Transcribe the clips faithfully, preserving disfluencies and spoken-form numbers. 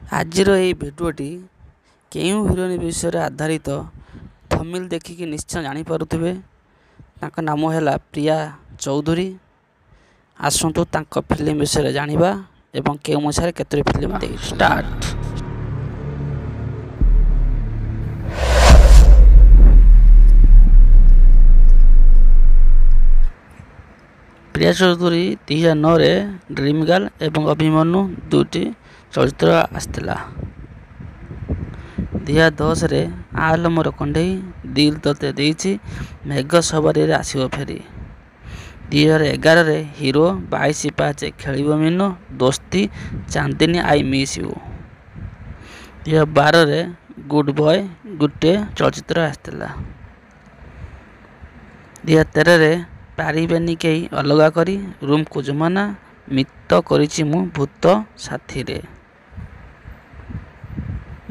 ଆଜିର ଏହି ଭିଡ଼ିଓଟି କେଉଁ ହିରୋଇନ୍ ବିଷୟରେ ଆଧାରିତ ଥମ୍ବନେଲ୍ ଦେଖିକି ନିଶ୍ଚୟ ଜାଣିପାରୁଥିବେ। ତାଙ୍କ ନାମ ହେଲା ପ୍ରିୟା ଚୌଧୁରୀ। ଆସନ୍ତୁ ତାଙ୍କ ଫିଲ୍ମ ବିଷୟରେ ଜାଣିବା ଏବଂ କେଉଁ ମସିହାରେ କେତୋଟି ଫିଲ୍ମ ଦେଇଥିଲେ। ଷ୍ଟାର୍ଟ। ପ୍ରିୟା ଚୌଧୁରୀ ଦୁଇ ହଜାର ନଅରେ ଡ୍ରିମ୍ ଗାର୍ଲ ଏବଂ ଅଭିମନ୍ୟୁ ଦୁଇଟି ଚଳଚ୍ଚିତ୍ର ଆସିଥିଲା। ଦୁଇ ହଜାର ଦଶରେ ଆଲୋ ମୋର କଣ୍ଢେଇ, ଦିଲ୍ ତୋତେ ଦେଇଛି, ମେଘ ସବାରିରେ ଆସିବ ଫେରି। ଦୁଇ ହଜାର ଏଗାରରେ ହିରୋ, ବାଇଶି ପାହାଚେ ଖେଳିବ ମୀନ, ଦୋସ୍ତି, ଚାନ୍ଦିନୀ I miss you. ଦୁଇ ହଜାର ବାରରେ ଗୁଡ୍ ବୟ ଗୋଟିଏ ଚଳଚ୍ଚିତ୍ର ଆସିଥିଲା। ଦୁଇ ହଜାର ତେରରେ ପାରିବେନି କେହି ଅଲଗା କରି, ରୁମ୍କୁ ଜମାନା, ମିତ କରିଛି ମୁଁ ଭୂତ ସାଥିରେ।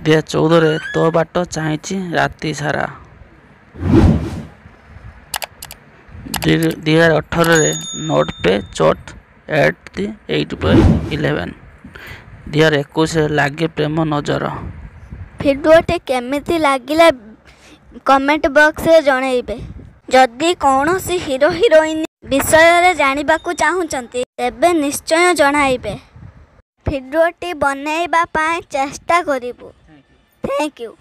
ଦୁଇ ହଜାର ଚଉଦରେ ତୋ ବାଟ ଚାହିଁଛି ରାତି ସାରା। ଦୁଇ ହଜାର ଅଠରରେ ନୋଟ୍ ପେ ଚୋଟ୍ at the eight by eleven. ଦୁଇ ହଜାର ଏକୋଇଶରେ ଲାଗେ ପ୍ରେମ ନଜର। ଭିଡ଼ିଓଟି କେମିତି ଲାଗିଲା କମେଣ୍ଟ ବକ୍ସରେ ଜଣାଇବେ। ଯଦି କୌଣସି ହିରୋ ହିରୋଇନ୍ ବିଷୟରେ ଜାଣିବାକୁ ଚାହୁଁଛନ୍ତି ତେବେ ନିଶ୍ଚୟ ଜଣାଇବେ। ଭିଡ଼ିଓଟି ବନେଇବା ପାଇଁ ଚେଷ୍ଟା କରିବୁ। Thank you.